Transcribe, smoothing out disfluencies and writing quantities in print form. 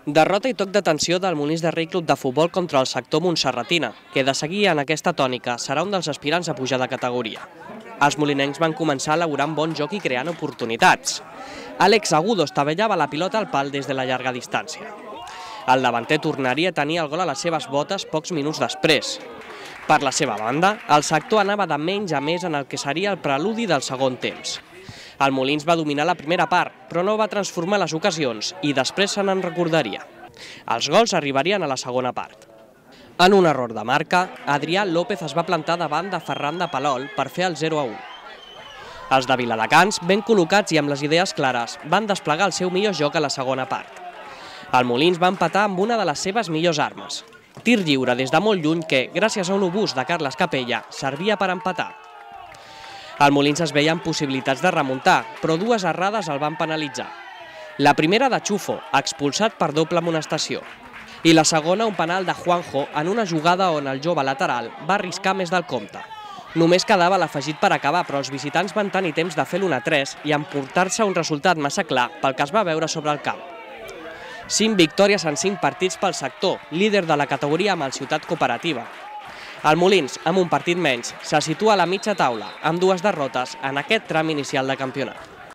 Derrota i toc d'atenció del Molins de Rei Club de Futbol contra el sector montserratina, que de seguir en aquesta tònica serà un dels aspirants a pujar de categoria. Els molinencs van començar elaborant bon joc i creant oportunitats. Àlex Agudo estavellava la pilota al pal des de la llarga distància. El davanter tornaria a tenir el gol a les seves botes pocs minuts després. Per la seva banda, el sector anava de menys a més en el que seria el preludi del segon temps. El Molins va dominar la primera part, però no va transformar les ocasions i després se n'en recordaria. Els gols arribarien a la segona part. En un error de marca, Adrià López es va plantar davant de Ferran de Palol per fer el 0-1. Els de Viladecans, ben col·locats i amb les idees clares, van desplegar el seu millor joc a la segona part. El Molins va empatar amb una de les seves millors armes. Tir lliure des de molt lluny que, gràcies a un obús de Carles Capella, servia per empatar. El Molins es veia amb possibilitats de remuntar, però dues errades el van penalitzar. La primera de Chufo, expulsat per doble amonestació. I la segona un penal de Juanjo en una jugada on el jove lateral va arriscar més del compte. Només quedava l'afegit per acabar, però els visitants van tenir temps de fer l'1-3 i emportar-se un resultat massa clar pel que es va veure sobre el camp. 5 victòries en 5 partits pel sector, líder de la categoria amb el Ciutat Cooperativa. El Molins, amb un partit menys, se situa a la mitja taula, amb 2 derrotes en aquest tram inicial de campionat.